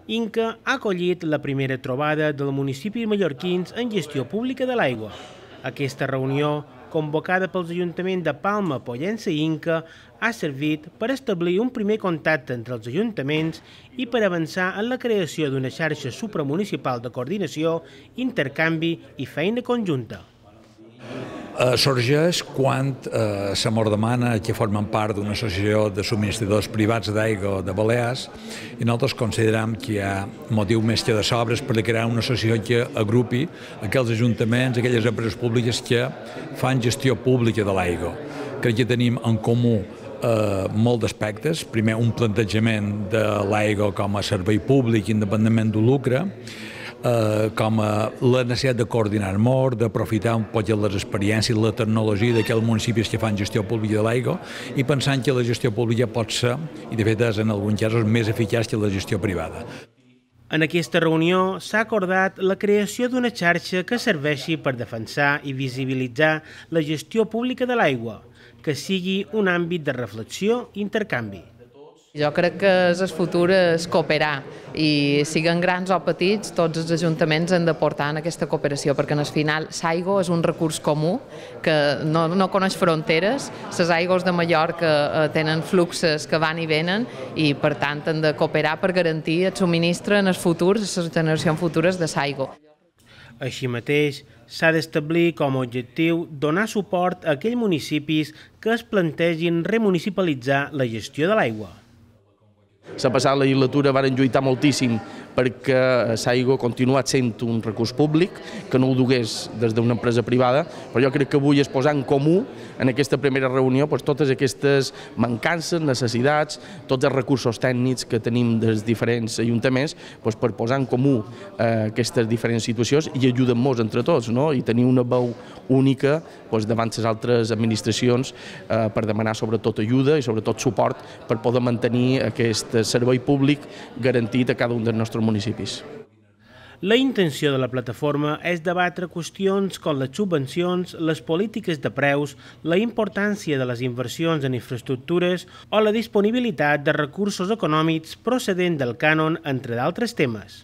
Inca ha acollit la primera trobada del municipi mallorquins en gestió pública de l'aigua. Aquesta reunió, convocada pels ajuntaments de Palma, Pollença i Inca, ha servit per establir un primer contacte entre els ajuntaments i per avançar en la creació d'una xarxa supramunicipal de coordinació, intercanvi i feina conjunta. Sorgeix quan se mos demana que formen part d'una associació de subministradors privats d'aigua de Balears i nosaltres considerem que hi ha motiu més que de sobres per crear una associació que agrupi aquells ajuntaments, aquelles empreses públiques que fan gestió pública de l'aigua. Crec que tenim en comú molts aspectes. Primer, un plantejament de l'aigua com a servei públic independentment del lucre, com a la necessitat de coordinar molt, d'aprofitar un poc les experiències, la tecnologia d'aquells municipis que fan gestió pública de l'aigua i pensant que la gestió pública pot ser, i de fet és en alguns casos, més eficaç que la gestió privada. En aquesta reunió s'ha acordat la creació d'una xarxa que serveixi per defensar i visibilitzar la gestió pública de l'aigua, que sigui un àmbit de reflexió i intercanvi. Jo crec que el futur és cooperar i siguin grans o petits, tots els ajuntaments han de portar en aquesta cooperació perquè al final l'aigua és un recurs comú que no coneix fronteres, les aigües de Mallorca tenen fluxos que van i venen i per tant han de cooperar per garantir el subministre en els futurs, a les generacions futures de l'aigua. Així mateix, s'ha d'establir com a objectiu donar suport a aquells municipis que es plantegin remunicipalitzar la gestió de l'aigua. La passada legislatura varen lluitar moltíssim perquè l'aigua ha continuat sent un recurs públic, que no ho dugués des d'una empresa privada, però jo crec que avui és posar en comú en aquesta primera reunió totes aquestes mancances, necessitats, tots els recursos tècnics que tenim dels diferents ajuntaments per posar en comú aquestes diferents situacions i ajudar-nos entre tots, i tenir una veu única davant les altres administracions per demanar sobretot ajuda i sobretot suport per poder mantenir aquest servei públic garantit a cada un dels nostres municipis. La intenció de la plataforma és debatre qüestions com les subvencions, les polítiques de preus, la importància de les inversions en infraestructures o la disponibilitat de recursos econòmics procedent del cànon, entre d'altres temes.